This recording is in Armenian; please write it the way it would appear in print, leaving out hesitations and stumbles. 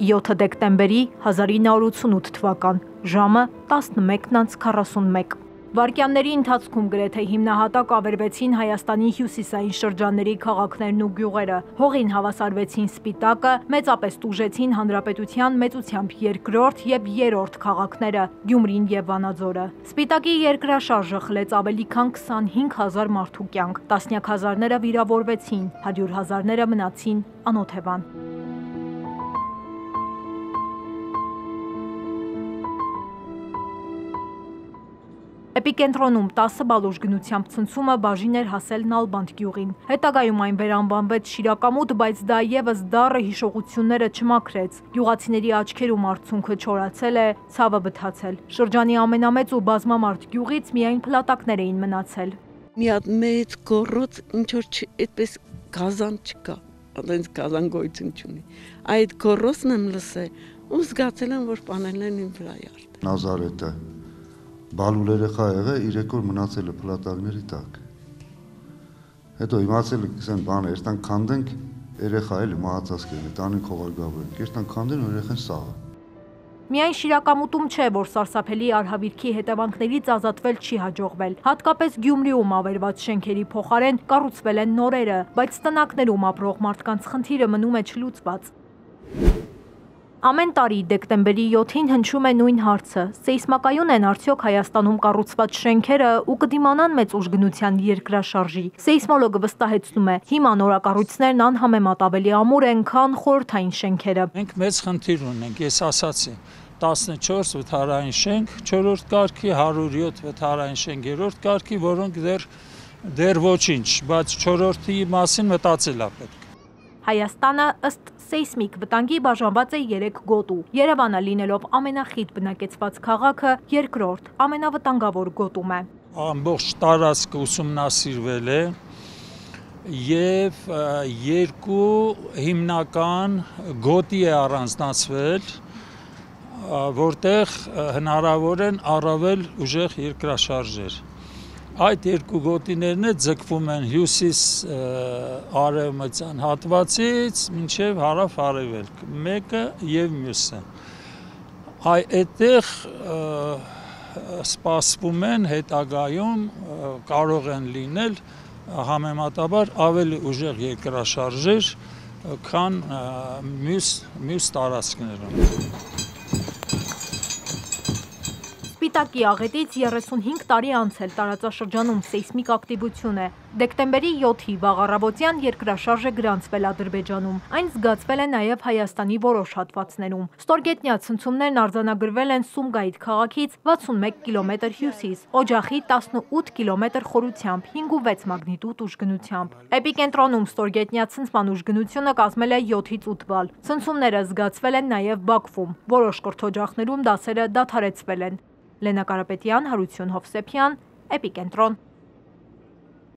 7 դեկտեմբերի 1988 թվական, ժամը 11:41։ Վայրկյանների ընթացքում գրեթե հիմնահատակ ավերվեցին Հայաստանի հյուսիսային շրջանների քաղաքներն ու գյուղերը, հողին հավասարվեցին Սպիտակը, մեծապես տուժեցին հանրապետության մեծությամբ երկրորդ եւ երրորդ քաղաքները՝ Գյումրին եւ Վանաձորը։ Սպիտակի երկրաշարժը խլեց ավելի քան 25,000 մարդու կյանք, տասնյակ հազարները վիրավորվեցին, 100,000-ները մնացին անօթևան։ Էպիկենտրոնում 10 բալուժ գնությամբ ցնցումը բաժին էր հասել Նալբանդ գյուղին։ Հետագայում այն վերանվանվեց Շիրակամուտ, բայց դա եւս դառը հիշողությունները չմաքրեց։ Գյուղացիների աչքերում արցունքը չորացել է, ցավը բթացել։ Շրջանի ամենամեծ ու բազմամարդ գյուղից միայն փլատակներ էին մնացել։ Մի հատ մեծ գոռոց, ինչ որ այդպես գազան չկա, այնպես գազան գոյություն չունի։ Այդ գոռոցն եմ լսել ու զգացել եմ, որ պանելներն իմ վրա յարդ։ Նազարեթը բալուլ երեխա եղել, 3 օր մնացել է փլատակների տակ։ Հետո իմացել եք, ասեն բան, երտան քանդենք, երեխա էլի մահացած կերնի, տանին խողարկավորենք, երտան քանդեն ու երեխան սաղը։ Միայն Շիրակամուտում չէ, որ սարսափելի արհավիրքի հետևանքներից ազատվել չի հաջողվել։ Հատկապես Գյումրիում ավերված շենքերի փոխարեն կառուցվել են նորերը, բայց տնակներում ապրող մարդկանց խնդիրը մնում է չլուծված։ Ամեն տարի դեկտեմբերի 7-ին հնչում է նույն հարցը. սեյսմակայուն են արդյոք Հայաստանում կառուցված շենքերը ու կդիմանան մեծ ուժգնության երկրաշարժի։ Սեյսմոլոգը վստահեցնում է, հիմա նորակառույցներն անհամեմատ ավելի ամուր են, քան խորհրդային շենքերը։ Մենք մեծ խնդիր ունենք, ես ասացի, 14 վթարային շենք 4-րդ կարգի, 107 վթարային շենք 3-րդ կարգի, որոնք դեռ ոչինչ, բայց 4-րդի մասին մտածել է պետք։ Հայաստանը ըստ սեյսմիկ վտանգի բաժանված է 3 գոտու։ Երևանը լինելով ամենախիտ բնակեցված քաղաքը, երկրորդ ամենավտանգավոր գոտում է։ Ամբողջ տարածքը ուսումնասիրվել է եւ 2 հիմնական գոտի է առանձնացվել, որտեղ հնարավոր են առավել ուժեղ երկրաշարժեր։ Այդ 2 գոտիներն ձգվում են հյուսիս արևմտյան հատվածից մինչև հարավ-արևելք, մեկը եւ մյուսը։ Այդտեղ սպասվում են հետագայում կարող են լինել համեմատաբար ավելի ուժեղ երկրաշարժեր, քան մյուս տարածքներում։ Սպիտակի աղետից 35 տարի անցել տարածաշրջանում սեյսմիկ ակտիվություն է։ Դեկտեմբերի 7-ի վաղ առավոտյան երկրաշարժը գրանցվել Ադրբեջանում։ Այն զգացվել է նաև Հայաստանի որոշ հատվածներում։ Ստորգետնյա ցնցումներն արձանագրվել են Սումգայիթ քաղաքից 61 կիլոմետր հյուսիս, Օջախի 18 կիլոմետր խորությամբ, 5.6 մագնիտուդ ուժգնությամբ։ Էպիկենտրոնում ստորգետնյա ցնցման ուժգնությունը կազմել է 7-ից 8 բալ։ Ցնցումները զգացվել են նաև Բաքվում։ Որոշ կրթօջախներում դասերը դադարեցվել են։ Լենա Կարապետյան, Հարություն Հովսեփյան, Էպիկենտրոն։